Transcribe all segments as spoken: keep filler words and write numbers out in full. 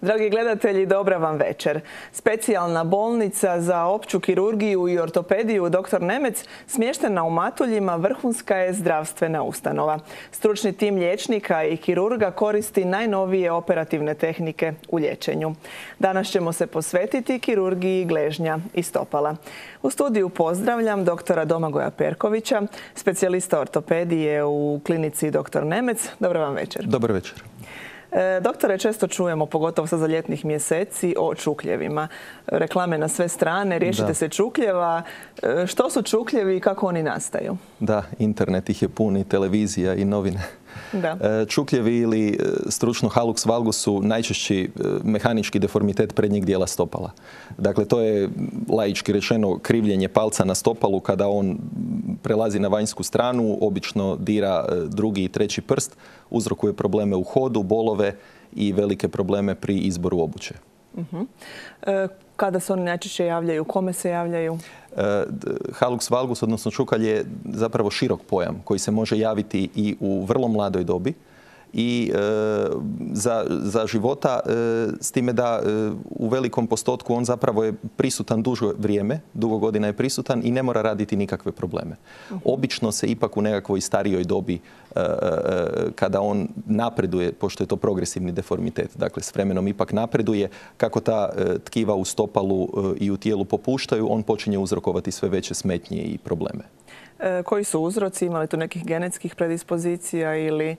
Dragi gledatelji, dobra vam večer. Specijalna bolnica za opću kirurgiju i ortopediju doktor Nemec smještena u Matuljima vrhunska je zdravstvena ustanova. Stručni tim liječnika i kirurga koristi najnovije operativne tehnike u liječenju. Danas ćemo se posvetiti kirurgiji gležnja i stopala. U studiju pozdravljam doktora Domagoja Perkovića, specijalista ortopedije u klinici doktor Nemec. Dobar vam večer. Dobar večer. E, doktore, često čujemo, pogotovo sa ljetnih mjeseci, o čukljevima. Reklame na sve strane, riješite da. se čukljeva. E, što su čukljevi i kako oni nastaju? Da, internet ih je pun i televizija i novine. Da. E, čukljevi ili stručno hallux valgus su najčešći mehanički deformitet prednjeg dijela stopala. Dakle, to je laički rečeno krivljenje palca na stopalu kada on prelazi na vanjsku stranu, obično dira drugi i treći prst, uzrokuje probleme u hodu, bolove i velike probleme pri izboru obuće. Uh-huh. e, kada se oni najčešće javljaju? Kome se javljaju? E, hallux valgus, odnosno čukalj, je zapravo širok pojam koji se može javiti i u vrlo mladoj dobi i e, za, za života, e, s time da e, u velikom postotku on zapravo je prisutan duže vrijeme, dugo godina je prisutan i ne mora raditi nikakve probleme. Uh-huh. Obično se ipak u nekakvoj starijoj dobi, e, e, kada on napreduje, pošto je to progresivni deformitet, dakle s vremenom ipak napreduje, kako ta e, tkiva u stopalu e, i u tijelu popuštaju, on počinje uzrokovati sve veće smetnje i probleme. E, koji su uzroci? Ima li tu nekih genetskih predispozicija ili...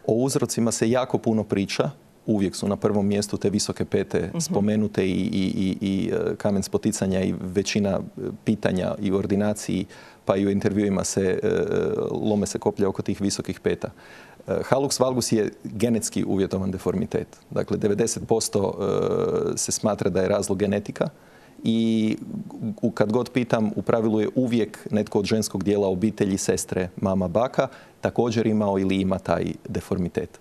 O uzrocima se jako puno priča. Uvijek su na prvom mjestu te visoke pete spomenute i, i, i, i kamen spoticanja i većina pitanja i u ordinaciji pa i u intervjuima se lome se koplja oko tih visokih peta. Hallux valgus je genetski uvjetovan deformitet. Dakle, devedeset posto se smatra da je razlog genetika. I kad god pitam, u pravilu je uvijek netko od ženskog dijela obitelji, sestre, mama, baka, također imao ili ima taj deformitet.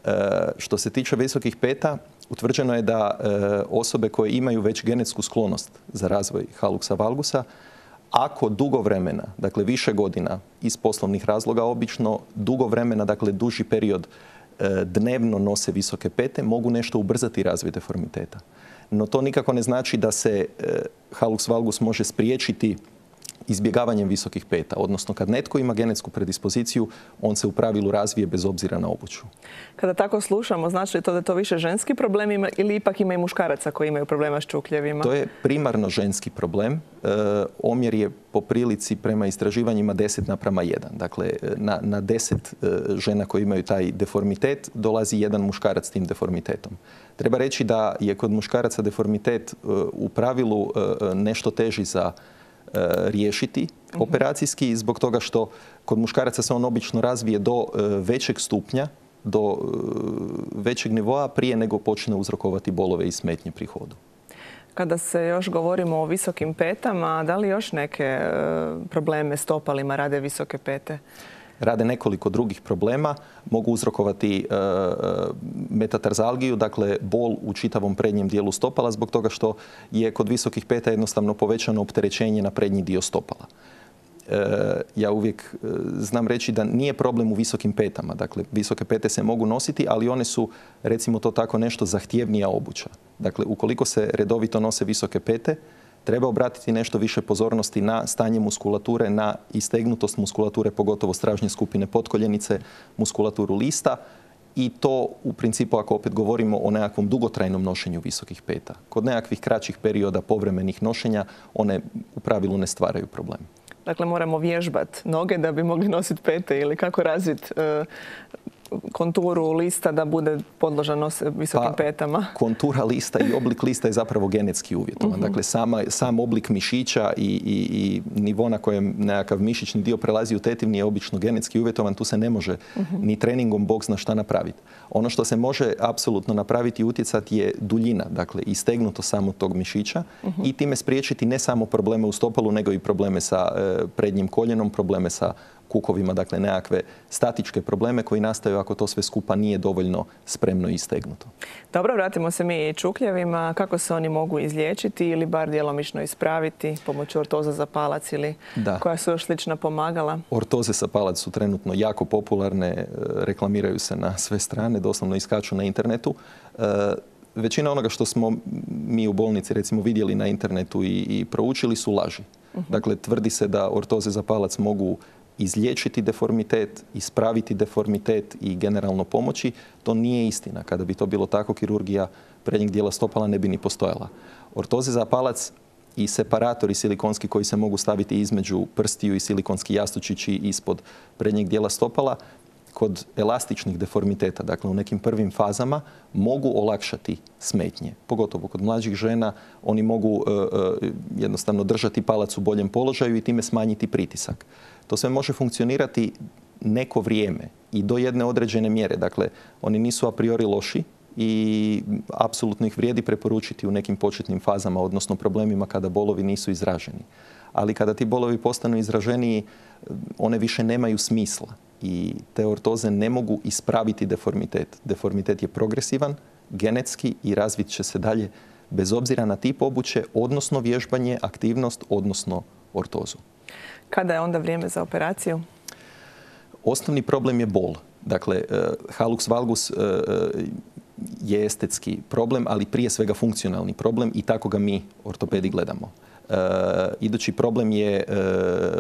E, što se tiče visokih peta, utvrđeno je da e, osobe koje imaju već genetsku sklonost za razvoj halluxa valgusa, ako dugo vremena, dakle više godina iz poslovnih razloga obično, dugo vremena, dakle duži period e, dnevno nose visoke pete, mogu nešto ubrzati razvoj deformiteta. No to nikako ne znači da se e, hallux valgus može spriječiti izbjegavanjem visokih peta. Odnosno, kad netko ima genetsku predispoziciju, on se u pravilu razvije bez obzira na obuću. Kada tako slušamo, znači li to da je to više ženski problem ima, ili ipak ima i muškaraca koji imaju problema s čukljevima? To je primarno ženski problem. E, omjer je po prilici prema istraživanjima deset naprama jedan. Dakle, na, na deset e, žena koji imaju taj deformitet dolazi jedan muškarac s tim deformitetom. Treba reći da je kod muškaraca deformitet e, u pravilu e, nešto teži za riješiti operacijski, zbog toga što kod muškaraca se on obično razvije do većeg stupnja, do većeg nivoa prije nego počne uzrokovati bolove i smetnje pri hodu. Kada se još govorimo o visokim petama, da li još neke probleme s stopalima rade visoke pete? Rade nekoliko drugih problema, mogu uzrokovati e, metatarzalgiju, dakle bol u čitavom prednjem dijelu stopala zbog toga što je kod visokih peta jednostavno povećano opterećenje na prednji dio stopala. E, ja uvijek e, znam reći da nije problem u visokim petama, dakle visoke pete se mogu nositi, ali one su, recimo to tako, nešto zahtjevnija obuća. Dakle, ukoliko se redovito nose visoke pete, treba obratiti nešto više pozornosti na stanje muskulature, na istegnutost muskulature, pogotovo stražnje skupine potkoljenice, muskulaturu lista i to u principu ako opet govorimo o nekakvom dugotrajnom nošenju visokih peta. Kod nekakvih kraćih perioda povremenih nošenja one u pravilu ne stvaraju problem. Dakle, moramo vježbati noge da bi mogli nositi pete ili kako razviti e, konturu lista da bude podložan visokim pa, petama? Kontura lista i oblik lista je zapravo genetski uvjetovan. Uh-huh. Dakle, sama, sam oblik mišića i, i, i nivo na kojem nekakav mišićni dio prelazi u tetivni je obično genetski uvjetovan. Tu se ne može uh-huh. ni treningom bog zna šta napraviti. Ono što se može apsolutno napraviti i utjecati je duljina, dakle istegnuto samo tog mišića uh-huh. i time spriječiti ne samo probleme u stopalu, nego i probleme sa e, prednjim koljenom, probleme sa kukovima, dakle nekakve statičke probleme koji nastaju ako to sve skupa nije dovoljno spremno i istegnuto. Dobro, vratimo se mi i čukljevima. Kako se oni mogu izliječiti ili bar djelomično ispraviti pomoću ortoza za palac ili da. koja su još slična pomagala? Ortoze za palac su trenutno jako popularne, reklamiraju se na sve strane, doslovno iskaču na internetu. većina onoga što smo mi u bolnici recimo vidjeli na internetu i, i proučili su laži. Uh-huh. Dakle, tvrdi se da ortoze za palac mogu izliječiti deformitet, ispraviti deformitet i generalno pomoći. To nije istina. Kada bi to bilo tako, kirurgija prednjeg dijela stopala ne bi ni postojala. Ortoze za palac i separatori silikonski koji se mogu staviti između prstiju i silikonski jastučići ispod prednjeg dijela stopala, kod elastičnih deformiteta, dakle u nekim prvim fazama, mogu olakšati smetnje. Pogotovo kod mlađih žena oni mogu uh, uh, jednostavno držati palac u boljem položaju i time smanjiti pritisak. To sve može funkcionirati neko vrijeme i do jedne određene mjere. Dakle, oni nisu a priori loši i apsolutno ih vrijedi preporučiti u nekim početnim fazama, odnosno problemima kada bolovi nisu izraženi. Ali kada ti bolovi postanu izraženiji, one više nemaju smisla i te ortoze ne mogu ispraviti deformitet. Deformitet je progresivan, genetski i razvit će se dalje bez obzira na tip obuće, odnosno vježbanje, aktivnost, odnosno ortozu. Kada je onda vrijeme za operaciju? Osnovni problem je bol. Dakle, halux valgus je estetski problem, ali prije svega funkcionalni problem i tako ga mi ortopedi gledamo. Uh, idući problem je uh,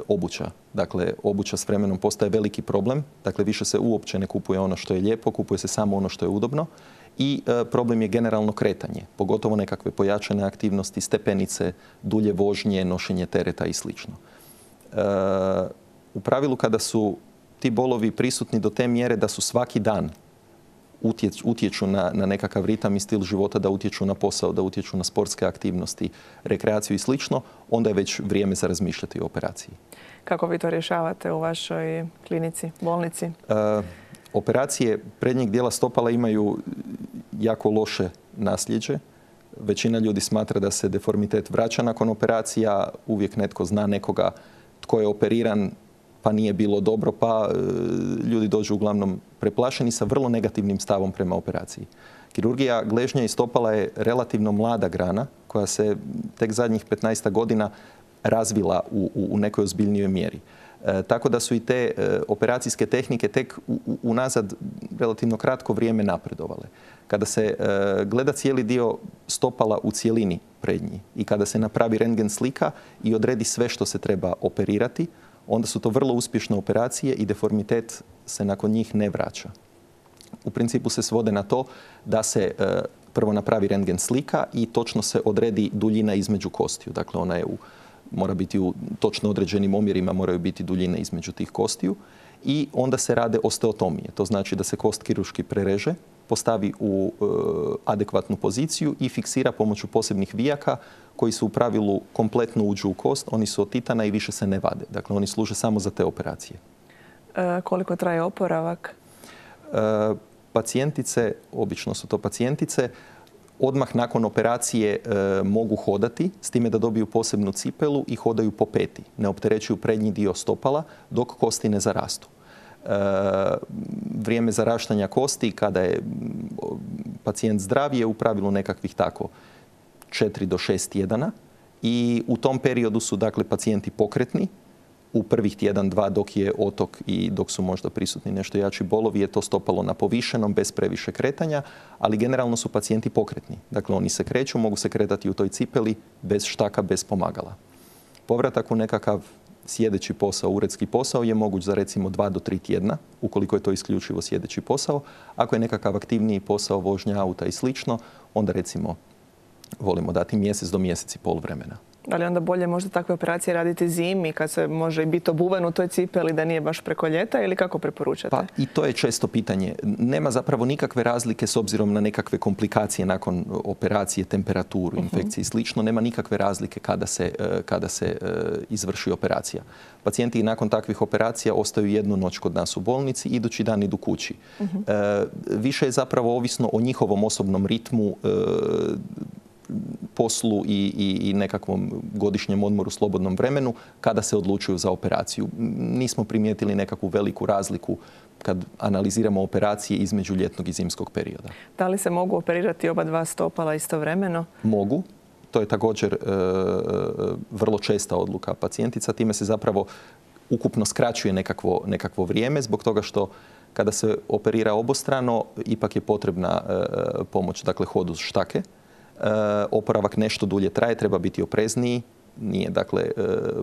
obuća. Dakle, obuća s vremenom postaje veliki problem. Dakle, više se uopće ne kupuje ono što je lijepo, kupuje se samo ono što je udobno. I uh, problem je generalno kretanje, pogotovo nekakve pojačane aktivnosti, stepenice, dulje vožnje, nošenje tereta i sl. Uh, u pravilu kada su ti bolovi prisutni do te mjere da su svaki dan utječu na, na nekakav ritam i stil života, da utječu na posao, da utječu na sportske aktivnosti, rekreaciju i slično, onda je već vrijeme za razmišljati o operaciji. Kako vi to rješavate u vašoj klinici, bolnici? E, operacije prednjeg dijela stopala imaju jako loše nasljeđe. Većina ljudi smatra da se deformitet vraća nakon operacija. Uvijek netko zna nekoga tko je operiran pa nije bilo dobro, pa e, ljudi dođu uglavnom preplašeni sa vrlo negativnim stavom prema operaciji. Kirurgija gležnja i stopala je relativno mlada grana koja se tek zadnjih petnaest godina razvila u, u, u nekoj ozbiljnijoj mjeri. E, tako da su i te e, operacijske tehnike tek u, u, unazad relativno kratko vrijeme napredovale. Kada se e, gleda cijeli dio stopala u cjelini prednji i kada se napravi rentgen slika i odredi sve što se treba operirati, onda su to vrlo uspješne operacije i deformitet se nakon njih ne vraća. U principu se svode na to da se e, prvo napravi rentgen slika i točno se odredi duljina između kostiju. Dakle, ona je u, mora biti u točno određenim omjerima, moraju biti duljine između tih kostiju. I onda se rade osteotomije. To znači da se kost kirurški prereže, postavi u e, adekvatnu poziciju i fiksira pomoću posebnih vijaka koji su u pravilu kompletno uđu u kost. Oni su od titana i više se ne vade. Dakle, oni služe samo za te operacije. E, koliko traje oporavak? E, pacijentice, obično su to pacijentice, odmah nakon operacije e, mogu hodati, s time da dobiju posebnu cipelu i hodaju po peti. Ne opterećuju prednji dio stopala dok kosti ne zarastu. E, vrijeme zaraštanja kosti kada je pacijent zdrav je u pravilu nekakvih tako četiri do šest tjedana i u tom periodu su dakle pacijenti pokretni. U prvih tjedan, dva dok je otok i dok su možda prisutni nešto jači bolovi je to stopalo na povišenom bez previše kretanja, ali generalno su pacijenti pokretni. Dakle, oni se kreću, mogu se kretati u toj cipeli bez štaka, bez pomagala. Povratak u nekakav sjedeći posao, uredski posao je moguć za recimo dva do tri tjedna, ukoliko je to isključivo sjedeći posao. Ako je nekakav aktivniji posao, vožnja auta i slično, onda recimo volimo dati mjesec do mjesec i pol vremena. Da li onda bolje možda takve operacije raditi zimi kad se može biti obuven u toj cipeli da nije baš preko ljeta ili kako preporučate? Pa i to je često pitanje. Nema zapravo nikakve razlike s obzirom na nekakve komplikacije nakon operacije, temperaturu, infekcije i slično. Nema nikakve razlike kada se, kada se izvrši operacija. Pacijenti nakon takvih operacija ostaju jednu noć kod nas u bolnici, idući dan idu kući. Uh-huh. e, više je zapravo ovisno o njihovom osobnom ritmu, e, poslu i, i, i nekakvom godišnjem odmoru, slobodnom vremenu, kada se odlučuju za operaciju. Nismo primijetili nekakvu veliku razliku kad analiziramo operacije između ljetnog i zimskog perioda. Da li se mogu operirati oba dva stopala istovremeno? Mogu. To je također e, vrlo česta odluka pacijentica. Time se zapravo ukupno skraćuje nekakvo, nekakvo vrijeme zbog toga što Kada se operira obostrano, ipak je potrebna pomoć, dakle hod uz štake. Oporavak nešto dulje traje, treba biti oprezniji, nije dakle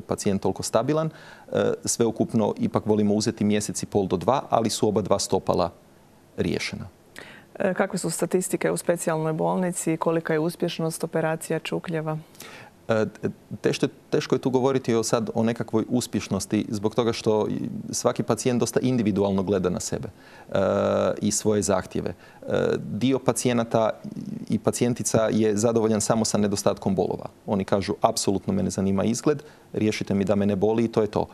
pacijent toliko stabilan. Sveukupno ipak volimo uzeti mjesec i pol do dva, ali su oba dva stopala riješena. Kakve su statistike u specijalnoj bolnici? Kolika je uspješnost operacija čukljeva? Teško, teško je tu govoriti o sad o nekakvoj uspješnosti zbog toga što svaki pacijent dosta individualno gleda na sebe e, i svoje zahtjeve. E, dio pacijenata i pacijentica je zadovoljan samo sa nedostatkom bolova. Oni kažu apsolutno me ne zanima izgled, riješite mi da me ne boli i to je to.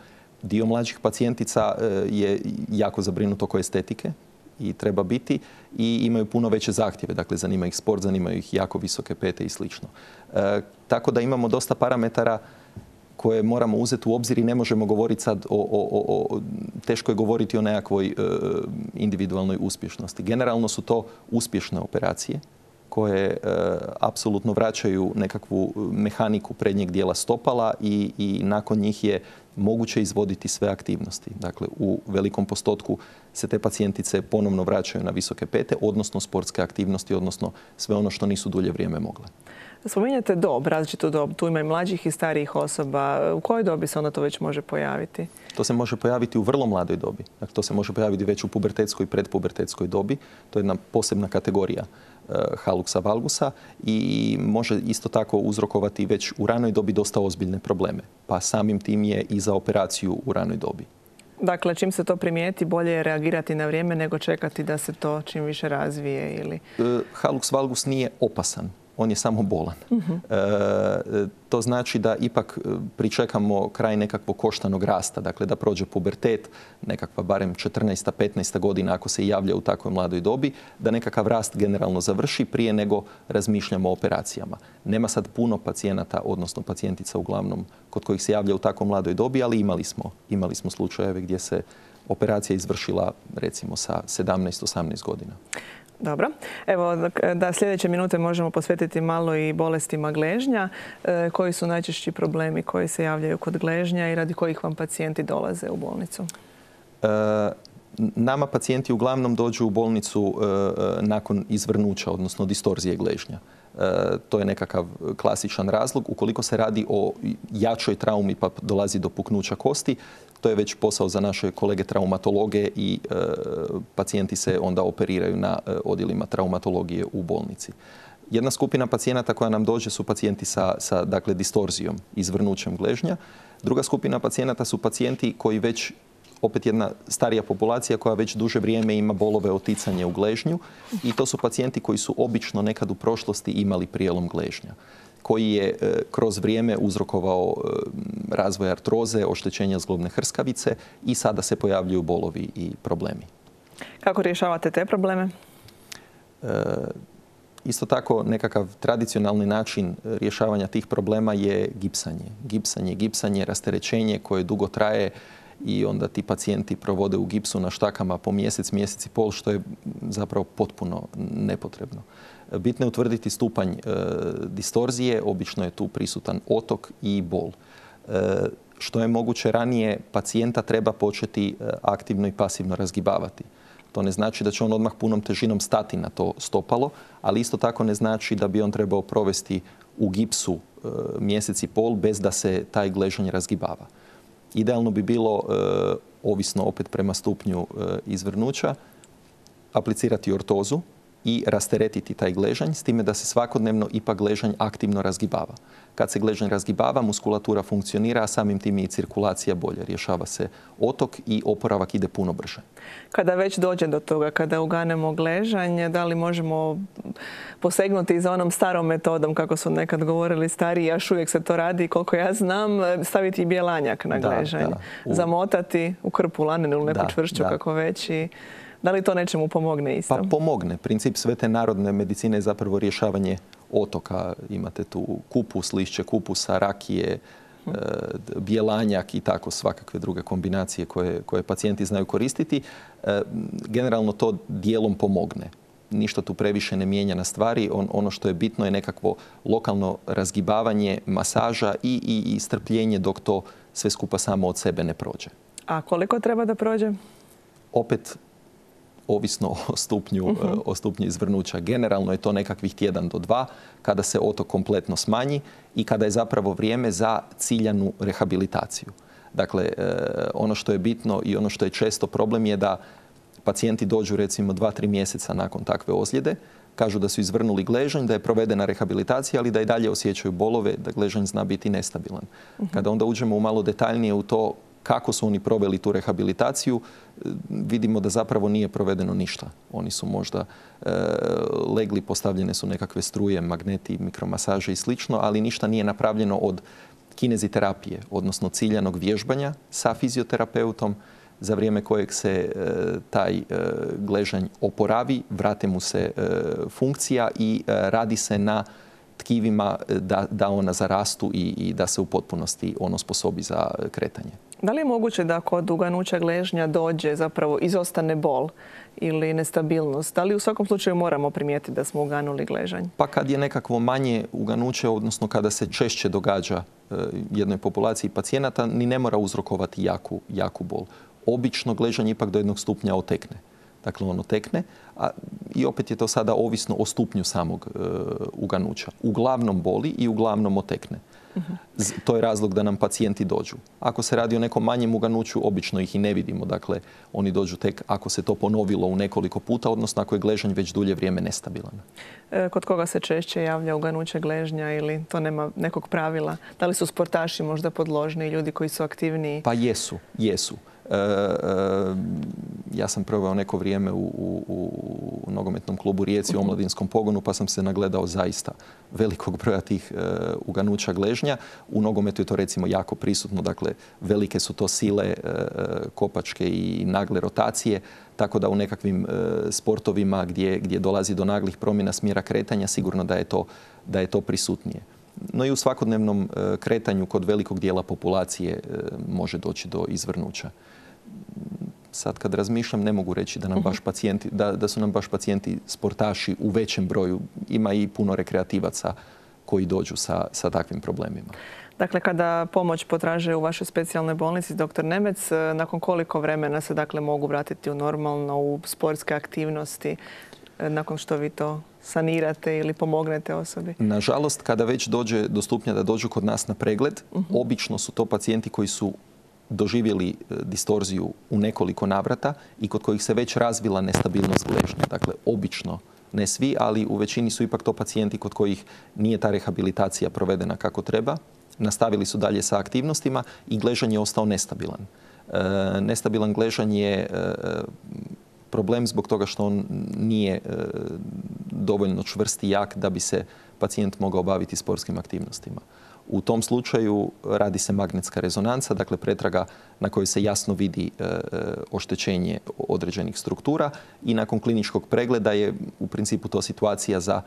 Dio mlađih pacijentica e, je jako zabrinut oko estetike i treba biti i imaju puno veće zahtjeve. Dakle, zanima ih sport, zanimaju ih jako visoke pete i slično. E, tako da imamo dosta parametara koje moramo uzeti u obzir i ne možemo govoriti sad o, o, o, o teško je govoriti o nekakvoj e, individualnoj uspješnosti. Generalno su to uspješne operacije koje e, apsolutno vraćaju nekakvu mehaniku prednjeg dijela stopala i, i nakon njih je moguće izvoditi sve aktivnosti. Dakle, u velikom postotku se te pacijentice ponovno vraćaju na visoke pete, odnosno sportske aktivnosti, odnosno sve ono što nisu dulje vrijeme mogle. Spominjate dob, različitu dob. Tu ima i mlađih i starijih osoba. U kojoj dobi se onda to već može pojaviti? To se može pojaviti u vrlo mladoj dobi. Dakle, to se može pojaviti već u pubertetskoj i predpubertetskoj dobi. To je jedna posebna kategorija haluxa valgusa i može isto tako uzrokovati već u ranoj dobi dosta ozbiljne probleme. Pa samim tim je i za operaciju u ranoj dobi. Dakle, čim se to primijeti, bolje je reagirati na vrijeme nego čekati da se to čim više razvije ili... Halux valgus nije opasan. On je samo bolan. Uh-huh. E, to znači da ipak pričekamo kraj nekakvog koštanog rasta, dakle da prođe pubertet, nekakva barem četrnaesta petnaesta godina ako se javlja u takvoj mladoj dobi, da nekakav rast generalno završi prije nego razmišljamo o operacijama. Nema sad puno pacijenata, odnosno pacijentica uglavnom, kod kojih se javlja u takvoj mladoj dobi, ali imali smo, imali smo slučajeve gdje se operacija izvršila recimo sa sedamnaest osamnaest godina. Dobro. Evo, da sljedeće minute možemo posvetiti malo i bolestima gležnja. E, koji su najčešći problemi koji se javljaju kod gležnja i radi kojih vam pacijenti dolaze u bolnicu? E, nama pacijenti uglavnom dođu u bolnicu e, nakon izvrnuća, odnosno distorzije gležnja. E, to je nekakav klasičan razlog. Ukoliko se radi o jačoj traumi pa dolazi do puknuća kosti, to je već posao za naše kolege traumatologe i e, pacijenti se onda operiraju na e, odjelima traumatologije u bolnici. Jedna skupina pacijenata koja nam dođe su pacijenti sa, sa dakle, distorzijom, izvrnućem gležnja. Druga skupina pacijenata su pacijenti koji već, opet jedna starija populacija koja već duže vrijeme ima bolove oticanje u gležnju i to su pacijenti koji su obično nekad u prošlosti imali prijelom gležnja, koji je kroz vrijeme uzrokovao razvoj artroze, oštećenja zglobne hrskavice i sada se pojavljuju bolovi i problemi. Kako rješavate te probleme? E, isto tako, nekakav tradicionalni način rješavanja tih problema je gipsanje. Gipsanje, gipsanje, rasterećenje koje dugo traje i onda ti pacijenti provode u gipsu na štakama po mjesec, mjesec i pol, što je zapravo potpuno nepotrebno. Bitno je utvrditi stupanj e, distorzije, obično je tu prisutan otok i bol. E, što je moguće ranije, pacijenta treba početi e, aktivno i pasivno razgibavati. To ne znači da će on odmah punom težinom stati na to stopalo, ali isto tako ne znači da bi on trebao provesti u gipsu e, mjesec i pol bez da se taj gležanj razgibava. Idealno bi bilo, e, ovisno opet prema stupnju e, izvrnuća, aplicirati ortozu i rasteretiti taj gležanj, s time da se svakodnevno ipak gležanj aktivno razgibava. Kad se gležanj razgibava, muskulatura funkcionira, a samim tim i cirkulacija bolje. Rješava se otok i oporavak ide puno brže. Kada već dođe do toga, kada uganemo gležanj, da li možemo posegnuti za onom starom metodom, kako su nekad govorili stariji, još uvijek se to radi, koliko ja znam, staviti bjelanjak na gležanj, da, da. U... zamotati u krpu lanenu ili neku da, čvršću, da. Kako već i... Da li to nečemu pomogne isto? Pa pomogne. Princip sve te narodne medicine je zapravo rješavanje otoka. Imate tu kupus, lišće kupusa, rakije, hmm. e, bjelanjak i tako svakakve druge kombinacije koje, koje pacijenti znaju koristiti. E, generalno to dijelom pomogne. Ništa tu previše ne mijenja na stvari. On, ono što je bitno je nekakvo lokalno razgibavanje, masaža i, i, i strpljenje dok to sve skupa samo od sebe ne prođe. A koliko treba da prođe? Opet ovisno o stupnju, uh-huh. o stupnju izvrnuća. Generalno je to nekakvih tjedan do dva kada se otok kompletno smanji i kada je zapravo vrijeme za ciljanu rehabilitaciju. Dakle, ono što je bitno i ono što je često problem je da pacijenti dođu recimo dva, tri mjeseca nakon takve ozljede, kažu da su izvrnuli gležanj, da je provedena rehabilitacija, ali da i dalje osjećaju bolove, da gležanj zna biti nestabilan. Uh-huh. Kada onda uđemo u malo detaljnije u to kako su oni proveli tu rehabilitaciju, vidimo da zapravo nije provedeno ništa. Oni su možda e, legli, postavljene su nekakve struje, magneti, mikromasaže i slično, ali ništa nije napravljeno od kineziterapije, odnosno ciljanog vježbanja sa fizioterapeutom, za vrijeme kojeg se e, taj e, gležanj oporavi, vrate mu se e, funkcija i e, radi se na tkivima da, da ona zarastu i, i da se u potpunosti ono sposobi za kretanje. Da li je moguće da kod uganuća gležnja dođe zapravo izostane bol ili nestabilnost? Da li u svakom slučaju moramo primijetiti da smo uganuli gležanj? Pa kad je nekakvo manje uganuće, odnosno kada se češće događa e, jednoj populaciji pacijenata, ni ne mora uzrokovati jaku, jaku bol. Obično gležanje ipak do jednog stupnja otekne. Dakle, ono tekne, a i opet je to sada ovisno o stupnju samog e, uganuća. Uglavnom boli i uglavnom otekne. Uh-huh. To je razlog da nam pacijenti dođu. Ako se radi o nekom manjem uganuću, obično ih i ne vidimo. Dakle, oni dođu tek ako se to ponovilo u nekoliko puta, odnosno ako je gležanj već dulje vrijeme nestabilan. E, kod koga se češće javlja uganuće gležnja ili to nema nekog pravila? Da li su sportaši možda podložni, ljudi koji su aktivniji? Pa jesu, jesu. E, e, ja sam proveo neko vrijeme u, u, u nogometnom klubu Rijeci, u omladinskom pogonu, pa sam se nagledao zaista velikog broja tih e, uganuća gležnja. U nogometu je to recimo jako prisutno, dakle velike su to sile, e, kopačke i nagle rotacije, tako da u nekakvim e, sportovima gdje, gdje dolazi do naglih promjena smjera kretanja, sigurno da je to, da je to prisutnije. No i u svakodnevnom e, kretanju kod velikog dijela populacije e, može doći do izvrnuća. Sad kad razmišljam, ne mogu reći da, nam baš pacijenti, da, da su nam baš pacijenti sportaši u većem broju. Ima i puno rekreativaca koji dođu sa, sa takvim problemima. Dakle, kada pomoć potraže u vašoj specijalnoj bolnici, doktor Nemec, nakon koliko vremena se dakle mogu vratiti u normalno, u sportske aktivnosti, nakon što vi to sanirate ili pomognete osobi? Nažalost, kada već dođe do stupnja da dođu kod nas na pregled, uh-huh. obično su to pacijenti koji su doživjeli distorziju u nekoliko navrata i kod kojih se već razvila nestabilnost gležnja. Dakle, obično, ne svi, ali u većini su ipak to pacijenti kod kojih nije ta rehabilitacija provedena kako treba. Nastavili su dalje sa aktivnostima i gležanj je ostao nestabilan. E, nestabilan gležanj je e, problem zbog toga što on nije e, dovoljno čvrst i jak da bi se pacijent mogao baviti sportskim aktivnostima. U tom slučaju radi se magnetska rezonanca, dakle pretraga na kojoj se jasno vidi e, oštećenje određenih struktura i nakon kliničkog pregleda je u principu to situacija za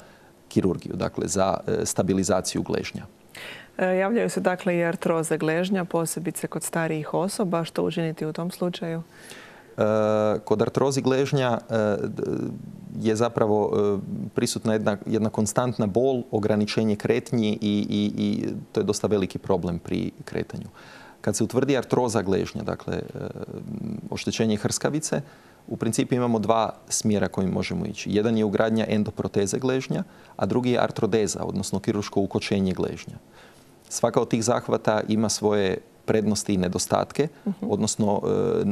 kirurgiju, dakle za e, stabilizaciju gležnja. E, javljaju se dakle i artroze gležnja, posebice kod starijih osoba. Što učiniti u tom slučaju? E, kod artrozi gležnja e, je zapravo e, prisutna jedna, jedna konstantna bol, ograničenje kretnji i, i, i to je dosta veliki problem pri kretanju. Kad se utvrdi artroza gležnja, dakle e, oštećenje hrskavice, u principu imamo dva smjera kojim možemo ići. Jedan je ugradnja endoproteze gležnja, a drugi je artrodeza, odnosno kirurško ukočenje gležnja. Svaka od tih zahvata ima svoje prednosti i nedostatke, uh-huh. odnosno e,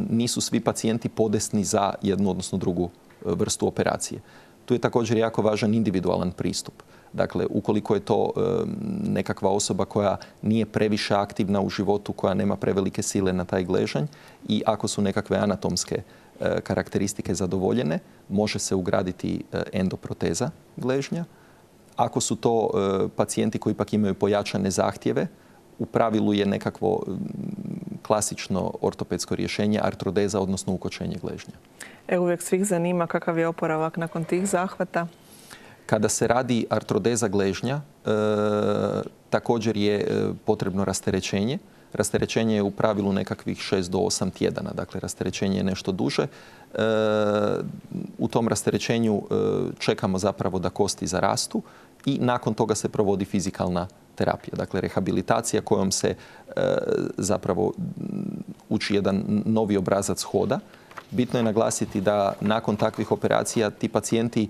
nisu svi pacijenti podesni za jednu, odnosno drugu vrstu operacije. Tu je također jako važan individualan pristup. Dakle, ukoliko je to e, nekakva osoba koja nije previše aktivna u životu, koja nema prevelike sile na taj gležanj i ako su nekakve anatomske e, karakteristike zadovoljene, može se ugraditi e, endoproteza gležnja. Ako su to e, pacijenti koji ipak imaju pojačane zahtjeve, u pravilu je nekakvo klasično ortopedsko rješenje artrodeza, odnosno ukočenje gležnja. E, uvijek svih zanima kakav je oporavak nakon tih zahvata? Kada se radi artrodeza gležnja, e, također je e, potrebno rasterećenje. Rasterećenje je u pravilu nekakvih šest do osam tjedana, dakle rasterećenje je nešto duže. E, u tom rasterećenju e, čekamo zapravo da kosti zarastu i nakon toga se provodi fizikalna terapija, dakle rehabilitacija kojom se e, zapravo uči jedan novi obrazac hoda Bitno je naglasiti da nakon takvih operacija ti pacijenti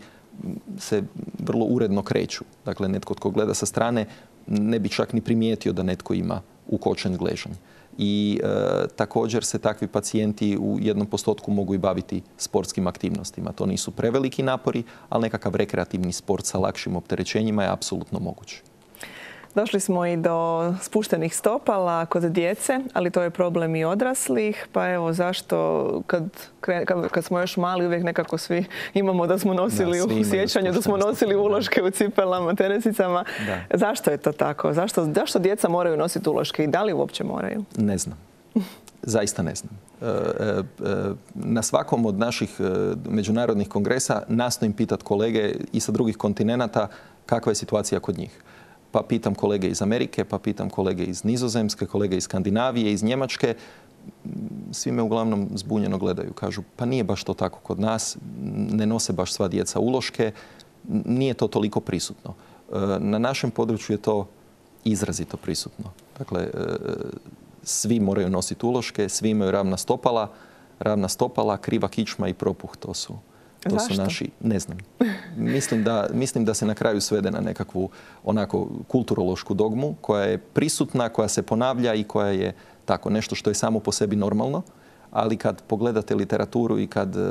se vrlo uredno kreću. Dakle, netko tko gleda sa strane ne bi čak ni primijetio da netko ima ukočen gležanj. I e, također se takvi pacijenti u jednom postotku mogu i baviti sportskim aktivnostima. To nisu preveliki napori, ali nekakav rekreativni sport sa lakšim opterećenjima je apsolutno moguć. Došli smo i do spuštenih stopala kod djece, ali to je problem i odraslih. Pa evo, zašto kad, kad, kad smo još mali uvijek nekako svi imamo da smo nosili da, u sjećanju, da smo nosili uloške u cipelama, teresicama. Da. Zašto je to tako? Zašto, zašto djeca moraju nositi uloške i da li uopće moraju? Ne znam. Zaista ne znam. Na svakom od naših međunarodnih kongresa nastojim pitati kolege i sa drugih kontinenata kakva je situacija kod njih. Pa pitam kolege iz Amerike, pa pitam kolege iz Nizozemske, kolege iz Skandinavije, iz Njemačke. Svi me uglavnom zbunjeno gledaju. Kažu, pa nije baš to tako kod nas, ne nose baš sva djeca uloške, nije to toliko prisutno. Na našem području je to izrazito prisutno. Dakle, svi moraju nositi uloške, svi imaju ravna stopala, ravna stopala, kriva kičma i propuh, to su... To Zašto? su naši, ne znam. Mislim da, mislim da se na kraju svede na nekakvu onako kulturološku dogmu koja je prisutna, koja se ponavlja i koja je tako nešto što je samo po sebi normalno. Ali kad pogledate literaturu i kad uh,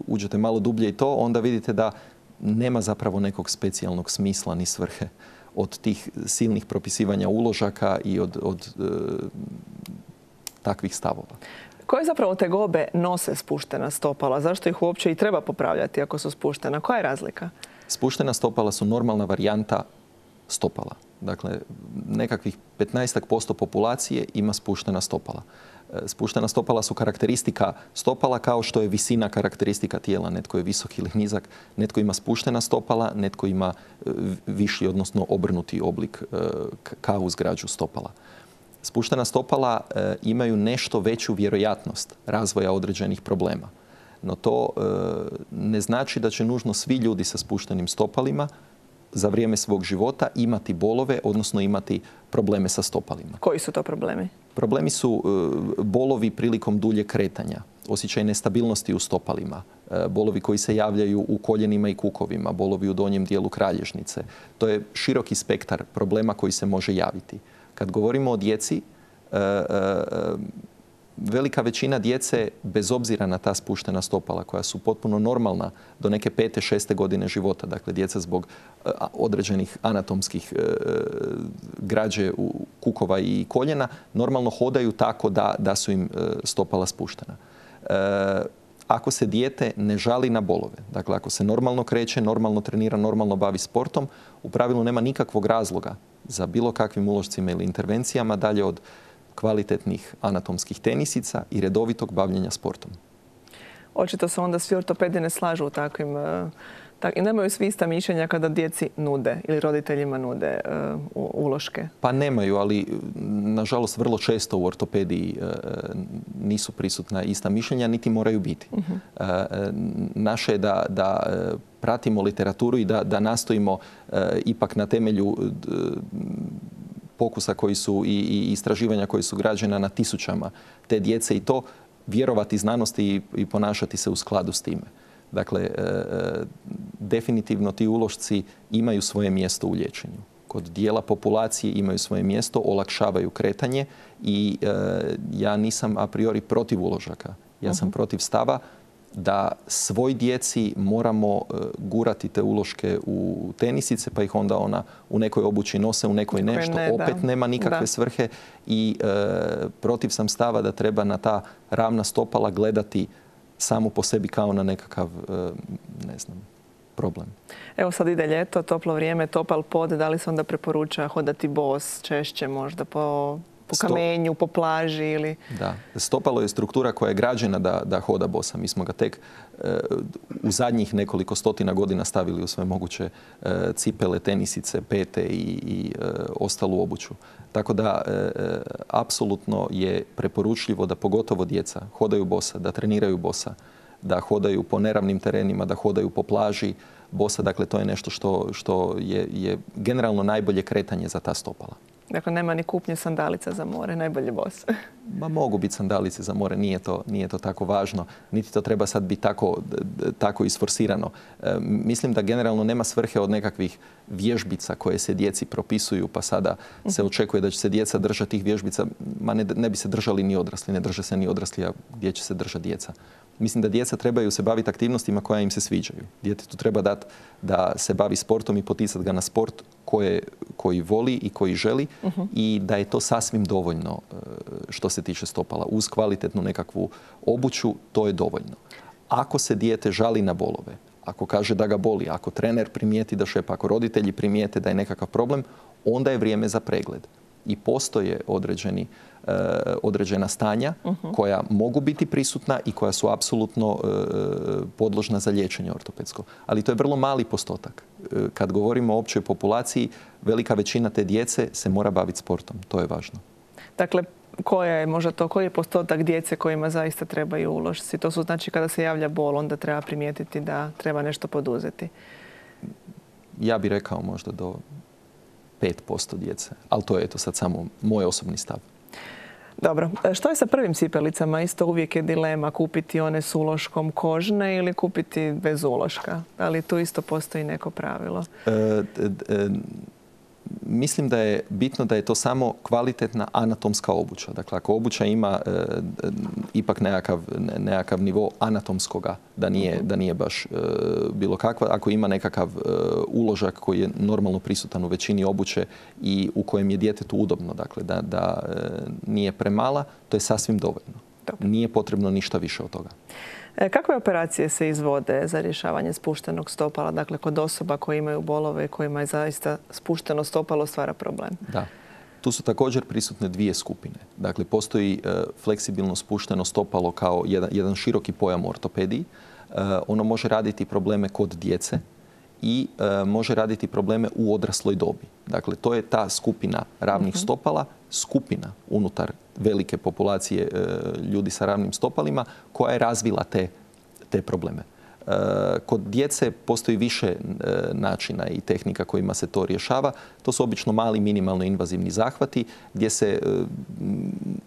uđete malo dublje i to, onda vidite da nema zapravo nekog specijalnog smisla ni svrhe od tih silnih propisivanja uložaka i od, od uh, takvih stavova. Koje zapravo tegobe nose spuštena stopala? Zašto ih uopće i treba popravljati ako su spuštena? Koja je razlika? Spuštena stopala su normalna varijanta stopala. Dakle, nekakvih petnaest posto populacije ima spuštena stopala. Spuštena stopala su karakteristika stopala kao što je visina karakteristika tijela. Netko je visok ili nizak, netko ima spuštena stopala, netko ima viši, odnosno obrnuti oblik kao uz građu stopala. Spuštena stopala e, imaju nešto veću vjerojatnost razvoja određenih problema. No to e, ne znači da će nužno svi ljudi sa spuštenim stopalima za vrijeme svog života imati bolove, odnosno imati probleme sa stopalima. Koji su to problemi? Problemi su e, bolovi prilikom dulje kretanja, osjećaj nestabilnosti u stopalima, e, bolovi koji se javljaju u koljenima i kukovima, bolovi u donjem dijelu kralježnice. To je široki spektar problema koji se može javiti. Kad govorimo o djeci, velika većina djece, bez obzira na ta spuštena stopala koja su potpuno normalna do neke pete, šeste godine života, dakle djeca zbog određenih anatomskih građe kukova i koljena, normalno hodaju tako da, da su im stopala spuštena. Ako se dijete ne žali na bolove, dakle ako se normalno kreće, normalno trenira, normalno bavi sportom, u pravilu nema nikakvog razloga za bilo kakvim ulošcima ili intervencijama dalje od kvalitetnih anatomskih tenisica i redovitog bavljenja sportom. Očito se onda svi ortopedi ne slažu u takvim... Tak, i nemaju svi ista mišljenja kada djeci nude ili roditeljima nude uh, uloške? Pa nemaju, ali nažalost vrlo često u ortopediji uh, nisu prisutna ista mišljenja, niti moraju biti. Uh-huh. uh, naše je da, da uh, pratimo literaturu i da, da nastojimo uh, ipak na temelju uh, pokusa koji su i, i istraživanja koji su građena na tisućama te djece i to vjerovati znanosti i, i ponašati se u skladu s time. Dakle, e, definitivno ti ulošci imaju svoje mjesto u liječenju. Kod dijela populacije imaju svoje mjesto, olakšavaju kretanje i e, ja nisam a priori protiv uložaka. Ja sam uh-huh. protiv stava da svoj djeci moramo e, gurati te uloške u tenisice pa ih onda ona u nekoj obući nose, u nekoj ne, što ne, opet da. nema nikakve da. svrhe i e, protiv sam stava da treba na ta ravna stopala gledati samo po sebi kao na nekakav, ne znam, problem. Evo sad ide ljeto, toplo vrijeme, topal pod, da li se onda preporuča hodati bos češće možda po, po kamenju, po plaži ili... Da, stopalo je struktura koja je građena da, da hoda bosa. Mi smo ga tek e, u zadnjih nekoliko stotina godina stavili u sve moguće e, cipele, tenisice, pete i, i e, ostalu obuću. Tako da, e, apsolutno je preporučljivo da pogotovo djeca hodaju bosa, da treniraju bosa, da hodaju po neravnim terenima, da hodaju po plaži bosa. Dakle, to je nešto što, što je, je generalno najbolje kretanje za ta stopala. Dakle, nema ni kupnje sandalica za more, najbolje bos. Ma mogu biti sandalice za more, nije to, nije to tako važno. Niti to treba sad biti tako, tako isforsirano. E, mislim da generalno nema svrhe od nekakvih vježbica koje se djeci propisuju, pa sada se očekuje da će se djeca držati tih vježbica. Ma ne, ne bi se držali ni odrasli, ne drže se ni odrasli, a gdje će se držati djeca. Mislim da djeca trebaju se baviti aktivnostima koja im se sviđaju. Djetetu treba dati da se bavi sportom i poticati ga na sport koje, koji voli i koji želi uh-huh. i da je to sasvim dovoljno što se tiče stopala. Uz kvalitetnu nekakvu obuću to je dovoljno. Ako se dijete žali na bolove, ako kaže da ga boli, ako trener primijeti da šepa, ako roditelji primijete da je nekakav problem, onda je vrijeme za pregled. I postoje određeni, uh, određena stanja uh-huh. koja mogu biti prisutna i koja su apsolutno uh, podložna za liječenje ortopedsko. Ali to je vrlo mali postotak. Uh, kad govorimo o općoj populaciji, velika većina te djece se mora baviti sportom. To je važno. Dakle, koja je možda to, koji je postotak djece kojima zaista trebaju uložci? To su znači kada se javlja bol, onda treba primijetiti da treba nešto poduzeti. Ja bih rekao možda do pet posto djece, ali to je eto sad samo moj osobni stav. Dobro. Što je sa prvim cipelicama? Isto uvijek je dilema kupiti one s uloškom kožne ili kupiti bez uloška. Da li tu isto postoji neko pravilo? E, e, Mislim da je bitno da je to samo kvalitetna anatomska obuća. Dakle, ako obuća ima e, ipak nekakav, nekakav nivo anatomskoga, da nije, da nije baš e, bilo kakva, ako ima nekakav e, uložak koji je normalno prisutan u većini obuće i u kojem je djetetu udobno, dakle, da, da e, nije premala, to je sasvim dovoljno. Dobro. Nije potrebno ništa više od toga. Kakve operacije se izvode za rješavanje spuštenog stopala? Dakle, kod osoba koje imaju bolove i kojima je zaista spušteno stopalo stvara problem. Da. Tu su također prisutne dvije skupine. Dakle, postoji e, fleksibilno spušteno stopalo kao jedan, jedan široki pojam u ortopediji. E, ono može raditi probleme kod djece i e, može raditi probleme u odrasloj dobi. Dakle, to je ta skupina ravnih uh-huh. stopala, skupina unutar velike populacije e, ljudi sa ravnim stopalima koja je razvila te, te probleme. E, kod djece postoji više e, načina i tehnika kojima se to rješava. To su obično mali minimalno invazivni zahvati gdje se e,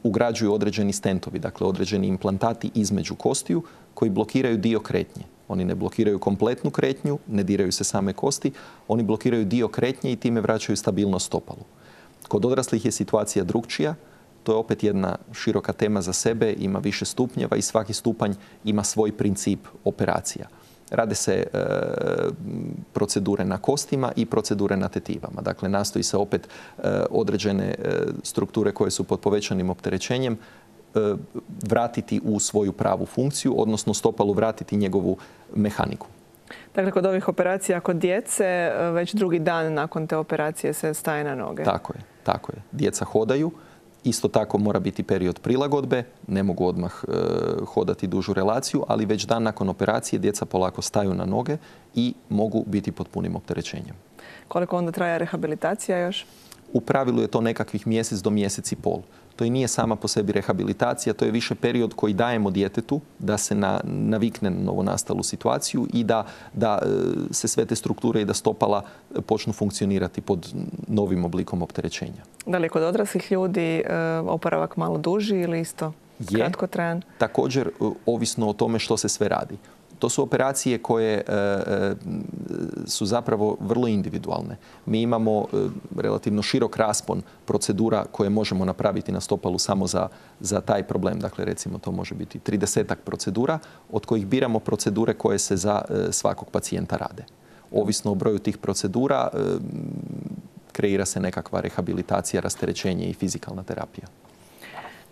ugrađuju određeni stentovi, dakle određeni implantati između kostiju koji blokiraju dio kretnje. Oni ne blokiraju kompletnu kretnju, ne diraju se same kosti, oni blokiraju dio kretnje i time vraćaju stabilnost stopalu. Kod odraslih je situacija drukčija, to je opet jedna široka tema za sebe, ima više stupnjeva i svaki stupanj ima svoj princip operacija. Rade se e, procedure na kostima i procedure na tetivama. Dakle, nastoji se opet e, određene e, strukture koje su pod povećanim opterećenjem e, vratiti u svoju pravu funkciju, odnosno stopalu vratiti njegovu mehaniku. Dakle, kod ovih operacija kod djece, već drugi dan nakon te operacije se staje na noge. Tako je, tako je. Djeca hodaju. Isto tako mora biti period prilagodbe, ne mogu odmah e, hodati dužu relaciju, ali već dan nakon operacije djeca polako staju na noge i mogu biti pod punim opterećenjem. Koliko onda traje rehabilitacija još? U pravilu je to nekakvih mjesec do mjesec i pol. To i nije sama po sebi rehabilitacija, to je više period koji dajemo djetetu da se na, navikne na novonastalu situaciju i da, da se sve te strukture i da stopala počnu funkcionirati pod novim oblikom opterećenja. Da li je kod odraslih ljudi oporavak malo duži ili isto kratko trajan? Također, ovisno o tome što se sve radi. To su operacije koje e, su zapravo vrlo individualne. Mi imamo e, relativno širok raspon procedura koje možemo napraviti na stopalu samo za, za taj problem. Dakle, recimo to može biti tridesetak procedura od kojih biramo procedure koje se za e, svakog pacijenta rade. Ovisno o broju tih procedura e, kreira se nekakva rehabilitacija, rasterećenje i fizikalna terapija.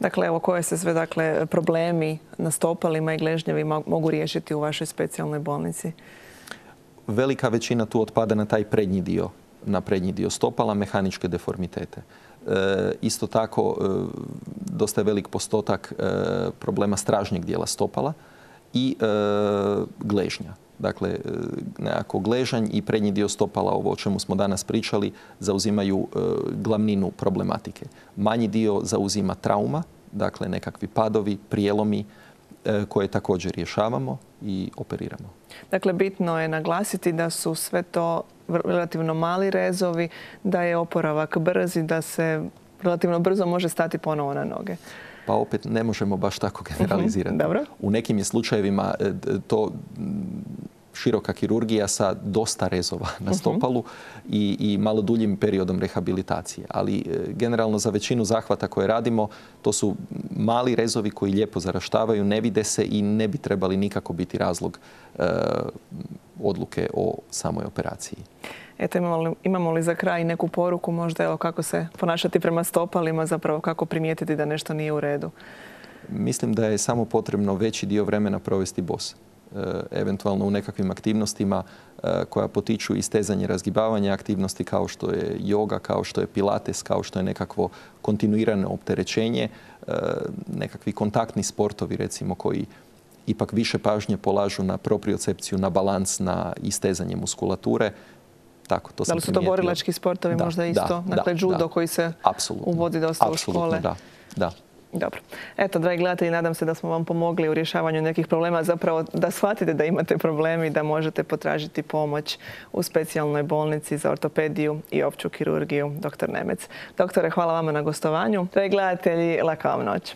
Dakle, evo koje se sve dakle, problemi na stopalima i gležnjevima mogu riješiti u vašoj specijalnoj bolnici? Velika većina tu otpada na taj prednji dio, na prednji dio stopala, mehaničke deformitete. E, isto tako, e, dosta je velik postotak e, problema stražnjeg dijela stopala i e, gležnja. Dakle, nekako gležanj i prednji dio stopala, ovo o čemu smo danas pričali, zauzimaju e, glavninu problematike. Manji dio zauzima trauma, dakle nekakvi padovi, prijelomi, koje također rješavamo i operiramo. Dakle, bitno je naglasiti da su sve to relativno mali rezovi, da je oporavak brz i da se relativno brzo može stati ponovo na noge. Pa opet ne možemo baš tako generalizirati. Dobro. U nekim je slučajevima to široka kirurgija sa dosta rezova na stopalu i, i malo duljim periodom rehabilitacije. Ali generalno za većinu zahvata koje radimo, to su mali rezovi koji lijepo zaraštavaju, ne vide se i ne bi trebali nikako biti razlog e, odluke o samoj operaciji. Eto, imamo li, imamo li za kraj neku poruku možda, evo, kako se ponašati prema stopalima, zapravo kako primijetiti da nešto nije u redu? Mislim da je samo potrebno veći dio vremena provesti bos. Eventualno u nekakvim aktivnostima koja potiču istezanje, razgibavanje aktivnosti kao što je joga, kao što je pilates, kao što je nekakvo kontinuirano opterećenje, nekakvi kontaktni sportovi recimo koji ipak više pažnje polažu na propriocepciju, na balans, na istezanje muskulature. Tako, to da li su to borilački sportovi da, možda isto? Da, dakle, da, judo da. koji se Apsolutno. uvodi dosta Apsolutno, u škole? Da, da. Dobro. Eto, dragi gledatelji, nadam se da smo vam pomogli u rješavanju nekih problema, zapravo da shvatite da imate problemi i da možete potražiti pomoć u specijalnoj bolnici za ortopediju i opću kirurgiju doktor Nemec. Doktore, hvala vama na gostovanju. Dragi gledatelji, laka vam noć.